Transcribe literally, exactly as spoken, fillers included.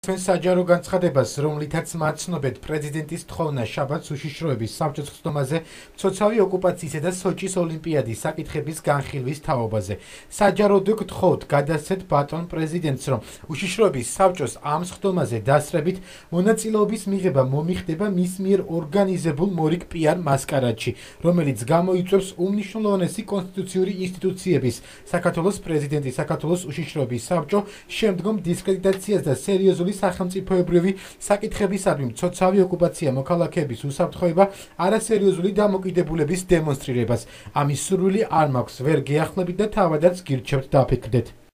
თქვენ საჯარო განცხადებას, რომლითაც მაცნობეთ პრეზიდენტის თხოვნა შაბათს უშიშროების საბჭოს ხსნომაზე მცოცავი ოკუპაციისა და სოჭის ოლიმპიადის საკითხების განხილვის თაობაზე. საჯაროდ გთხოვთ გადასცეთ ბატონ პრეზიდენტს, რომ უშიშროების საბჭოს ამ ხსნომაზე დასწრებით მონაწილეობის მიღება მომიხდება მის მიერ ორგანიზებულ მორიგ პიარ მასკარადში, რომელიც გამოიწვევს უმნიშვნელოვანესი კონსტიტუციური ინსტიტუციების საქართველოს პრეზიდენტის, საქართველოს უშიშროების საბჭო შემდგომ დისკრედიტაციას და სერიოზული სახელმწიფოებრივი საკითხებისადმი მცოცავი ოკუპაცია მოქალაქეების უსაფრთხოება არასერიოზული დამოკიდებულების დემონსტრირებას. ამის სურვილი არ მაქვს, ვერ გეახლებით და თავადაც გირჩევთ დაფიქრდეთ.